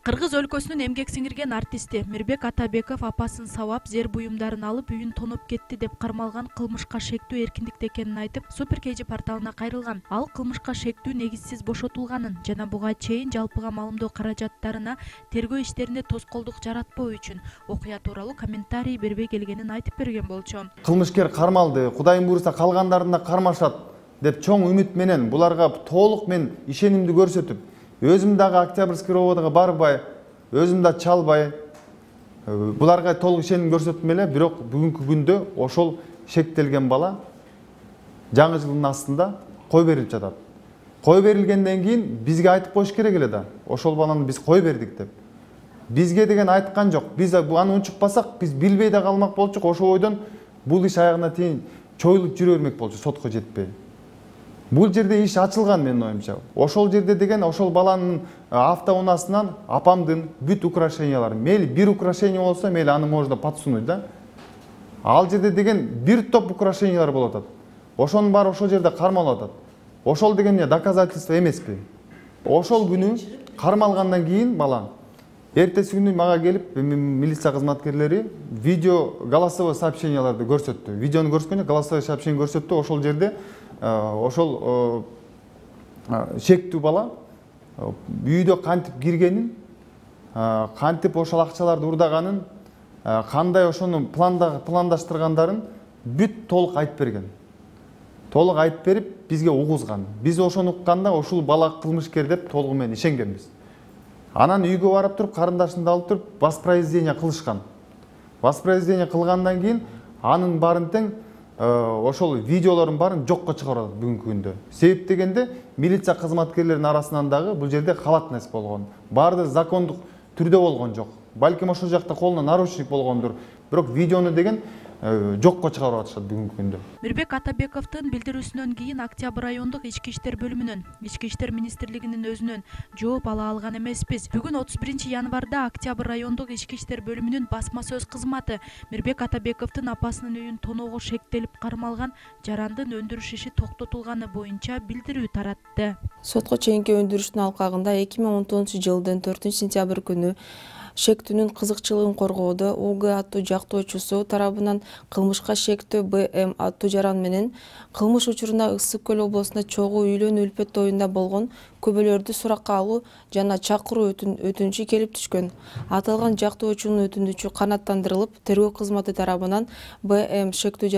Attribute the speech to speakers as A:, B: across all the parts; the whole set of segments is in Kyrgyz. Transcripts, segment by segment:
A: Кыргыз өлкөсүнүн эмгек сиңирген артисти Мирбек Атабеков апасын сабап, зер буюмдарын алып үйүн тоноп кетти деп кармалган кылмышка шектүү эркиндикте экенин айтып, Супер KG порталына кайрылган. Ал кылмышка шектүү негизсиз бошотулганын жана буга чейин жалпыга маалымдоо каражаттарына тергөө иштеринде тоскоолдук жаратпоо үчүн окуя тууралуу комментарий бербей келгенин айтып берген болчу.
B: Кылмышкер кармалды, Кудайым буйруса калгандарын да кармашат деп чоң үмүт менен буларга толук мен ишенимди көрсөтүп, өзүм дагы Октябрьский роводго барбай, өзүм да чалбай, буларга толук ишеним көрсөттүм эле, бирок бүгүнкү күндө ошол шектелген бала жаңы жылдын астында кой берилип жатат. Кой берилгенден кийин бизге айтып коюш керек эле да, ошол баланы биз кой бердик деп. Бизге деген айткан жок. Биз аны унчукпасак, биз билбей да калмак болчук. Ошол ойдон бул иш аягына чейин чоюлуп жүрө бермек болчу, сотко жетпей. Бул жерде иш ачылган менин оюмча. Ошол жерде деген ошол баланын автоунаасынан апамдын бүт украшениялары, мейли бир украшение болсо, мейли аны можно подсунуть да. Ал жерде деген бир топ украшениялар болуп атат. Ошонун баары ошол жерде кармалып атат. Ошол деген эмне, доказательство эмеспи? Ошол күнү кармалгандан кийин бала эртеси күнү мага келип, милиция кызматкерлери видео голосовой сообщенияларды көрсөттү. Видеону көрсөткөндө голосовой сообщение көрсөттү. Ошол жерде ошол шектүү бала үйдө кантип киргенин, кантип ошол акчаларды урдаганын, кандай ошону пландаштыргандарын бүт толук айтып берген. Толук айтып берип, бизге угузган. Биз ошону укканда ушул бала кылмышкер деп толугу менен ишенгенбиз. Анан үйгө барып туруп, карындашымды алып туруп, воспроизведение кылышкан. Воспроизведение кылгандан кийин анын баарын тең ошол видеолордун баарын жокко чыгарат бүгүнкү күндө. Себеп дегенде милиция кызматкерлеринин арасынан дагы бул жерде халатность болгон. Баарды закондук түрдө болгон жок. Балким ошол жакта колуна наручник болгондур. Бирок видеону деген жокко чыгарып атышат бүгүнкү күндө.
A: Мирбек Атабековдун билдирүүсүнөн кийин Октябрь райондук ички иштер бөлүмүнөн, ички иштер министрлигинин өзүнөн жооп ала алган эмеспиз. Бүгүн 31 январда Октябрь райондук ички иштер бөлүмүнүн басма сөз кызматы Мирбек Атабековдун апасынын үйүн тоноого шектелип кармалган жарандын өндүрүш иши токтотулганы боюнча билдирүү таратты.
C: Сотко чейинки өндүрүштүн алкагында 2019 жылдын 4 сентябрь күнү шектүүнүн кызыкчылыгын коргоодо УГ аттуу жактоочусу тарабынан кылмышка шектүү БМ аттуу жаран менен кылмыш учуруна Ысык Көл облусунда чогуу үйлөнүү үлпөт тоюнда болгон көбөлөрдү суракка алуу жана чакыруу өтүнүчү келип түшкөн. Аталган жактоочунун өтүнүчү канааттандырылып, тергөө кызматы тарабынан БМ шектүү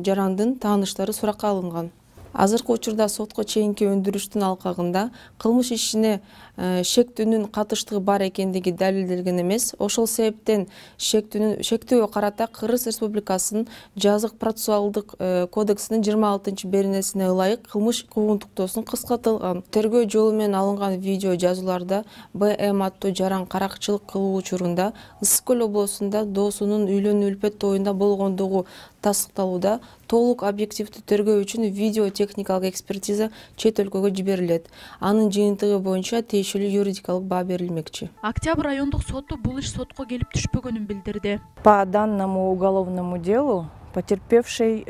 C: жарандын тааныштары суракка алынган. Азыркы учурда сотко чейинки өндүрүштүн алкагында кылмыш ишине шектүүнүн катыштыгы бар экендиги далилделген эмес. Ошол себептен шектүүгө карата Кыргыз Республикасынын жазык процессуалдык кодексинин 26-беренесине ылайык кылмыш куугунтуктоосун кыскартылган. Тергөө жолу менен алынган видео жазууларда БМ аттуу жаран каракчылык кылуу учурунда Ысык Көл облусунда доосунун үйлөнүү үлпөт тоюнда болгондугу тастыкталууда. Толук объективдүү тергөө үчүн видео техникалык экспертиза чет өлкөгө жиберилет. Анын жыйынтыгы боюнча тиешелүү юридикалык баа берилмекчи.
A: Октябрь райондук соту бул иш сотко келип түшпөгөнүн билдирди.
D: По данному уголовному делу потерпевший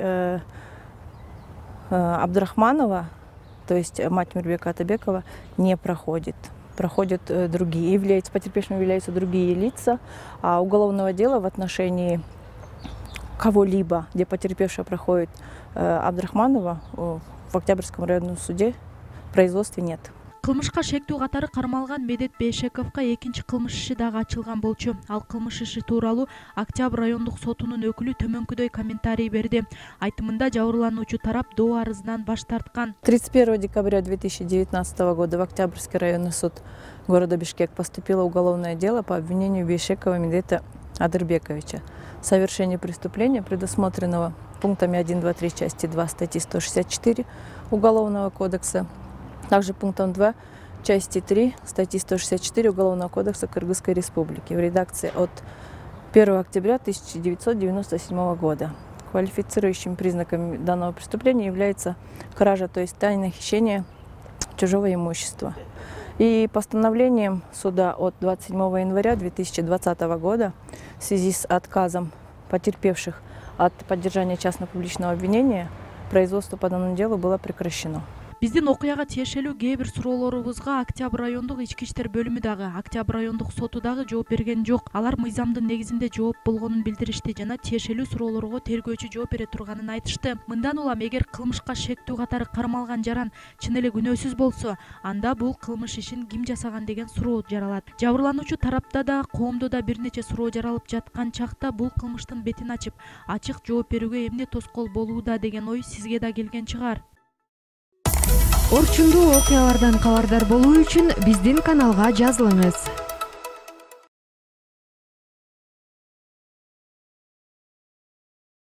D: Абдрахманова, то есть мать Мирбека Атабекова, не проходит. Проходят другие, потерпевшими являются другие лица, а уголовного дела в отношении кого-либо, где потерпевшая проходит Абдрахманова, в Октябрьском районном суде в производстве нет.
A: Кылмышка шектүү катары кармалган Медет Бейшековго экинчи кылмыш иши дагы ачылган болчу. Ал кылмыш иши тууралуу Октябрь райондук сотунун өкүлү төмөнкүдөй комментарий берди. Айтымында жабырлануучу тарап доо арызынан баш тарткан.
D: 31 декабря 2019 года в Октябрьский районный суд города Бишкек поступило уголовное дело по обвинению Бейшекова Медета Адырбековича в совершении преступления, предусмотренного пунктами 1, 2, 3 части 2 статьи 164 Уголовного кодекса, также пунктом 2 части 3 статьи 164 Уголовного кодекса Кыргызской Республики в редакции от 1 октября 1997 года. Квалифицирующим признаком данного преступления является кража, то есть тайное хищение чужого имущества. И постановлением суда от 27 января 2020 года в связи с отказом потерпевших от поддержания частно-публичного обвинения производство по данному делу было прекращено.
A: Биздин окуяга тиешелүү кээ бир суроолорубузга Октябрь райондук ички иштер бөлүмү дагы, Октябрь райондук соту дагы жооп берген жок. Алар мыйзамдын негизинде жооп болгонун билдиришти жана тиешелүү суроолорго тергөөчү жооп бере турганын айтышты. Мындан улам эгер кылмышка шектүү катары кармалган жаран чын эле күнөөсүз болсо, анда бул кылмыш ишин ким жасаган деген суроо жаралат. Жабырлануучу тарапта да, коомдо да бир нече суроо жаралып жаткан чакта бул кылмыштын бетин ачып, ачык жооп берүүгө эмне тоскоол болууда деген ой сизге да келген чыгар.
E: Орчундуу окуялардан кабардар болуу үчүн биздин каналга жазылыңыз.